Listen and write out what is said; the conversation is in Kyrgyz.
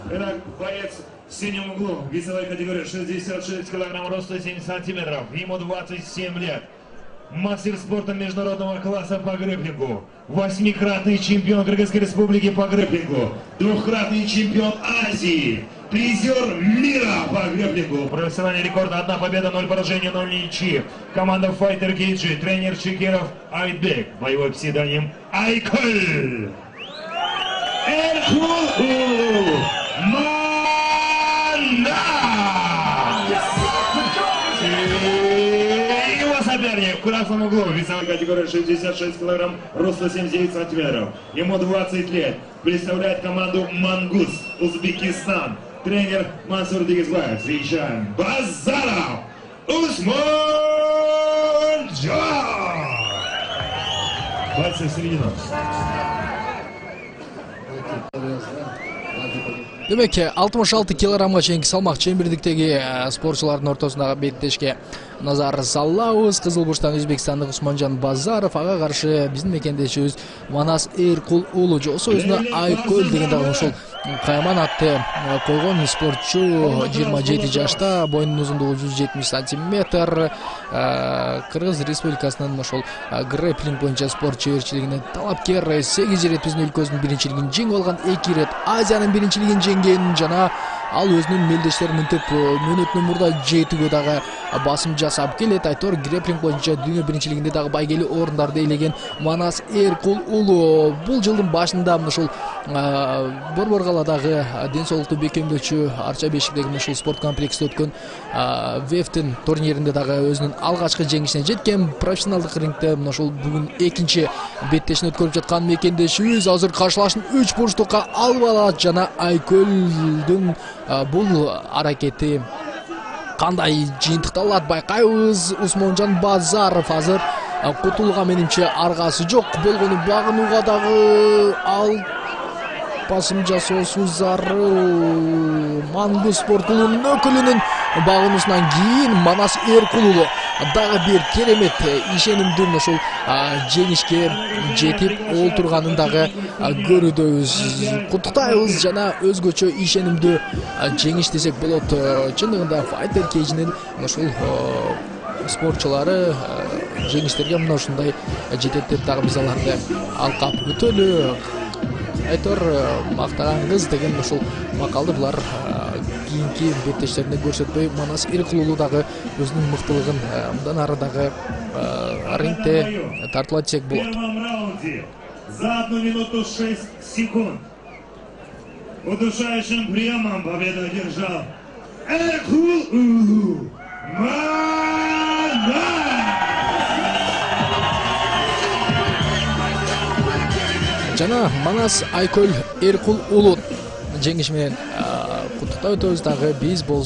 Итак, боец в синем углу, весовой категории 66 килограмм, роста 7 сантиметров, ему 27 лет. Мастер спорта международного класса по грэпплингу, 8-кратный чемпион Кыргызской республики по грэпплингу, 2-кратный чемпион Азии, призер мира по грэпплингу. Профессиональный рекорд: 1 победа, 0 поражений, 0 ничьи. Команда Fighter Cage, тренер Чекеров Айтбек, боевой псевдоним Айколь. Его соперник в красном углу, весовой категории 66 килограмм, роста 79 сантиметров. Ему 20 лет. Представляет команду Мангус, Узбекистан. Тренер Мансур Дигизбаев. Встречаем Базаров Усманджан. Пальцы в середину. Демек, 66 килограммга чейинки салмак чембирдиктеги спортчулардын ортосундагы беттешке назар салабыз. Кызыл бурчтан Өзбекстандык Усманджан Базаров, ага каршы биздин мекендешибиз Манас Эркул уулу, жосу өзүнө Айкөл деген дагы ушул Кайман атты койгон спортчу. 27 жашта, боюнун узундугу 170 сантиметр. Кыргыз Республикасынын ошол грэпплинг боюнча спорт чеберчилигине талапкер. 8 ирет биздин өлкөбүздүн биринчилигин жеңип алган, 2 ирет Азиянын биринчилигин жеңген жана ал өзүнүн мелдештерин мынтип мөөнөтүнөн мурда жетүүгө дагы басым жасап келет. Айтор грэпплинг боюнча дүйнө биринчилигинде дагы байгелүү орундарды ээлеген Манас Эркул уулу бул жылдын башында ушул Борборгаладагы ден соолукту бекемдөөчү Арча бешиктеги ушул спорт комплексте өткөн Вефтин турниринде дагы өзүнүн алгачкы жеңишине жеткен. Профессионалдык рингде ушул бүгүн экинчи беттешин өткөрүп жаткан мекендешибиз азыр каршылашын 3 бурчтукка алып алат жана Айкөлдүн бул аракети кандай жыйынтыкталат байкайбыз. Усманджан Базаров азыр кутулууга менимче аргасы жок, болгону багынууга дагы ал басым жасоосу зарыл. Мангус спорт клубунун өкүлүнүн багынуусунан кийин Манас Эркул уулу дагы бир керемет ишенимдүү ушул жеңишке жетип олтурганын дагы көрүүдөбүз. Куттуктайбыз жана өзгөчө ишенимдүү жеңиш десек болот. Чындыгында Fighter Cage'нин ушул спортчулары жеңиштерге мына ушундай жетет деп дагы биз аларды алкап өтөлү. Айтор мактаган кыз деген ушул макалды булар кийинки беттештеринде көрсөтпөй, Манас Эркул уулу дагы өзүнүн мыктылыгын мындан ары дагы рингте тартуулайт десек болот. За 1 минуту 6 секунд удушающим приемом победу одержал Эркул уулу Манас. Жана Манас Айкөл Эркул уулу жеңиш менен куттуктап өтөбүз дагы биз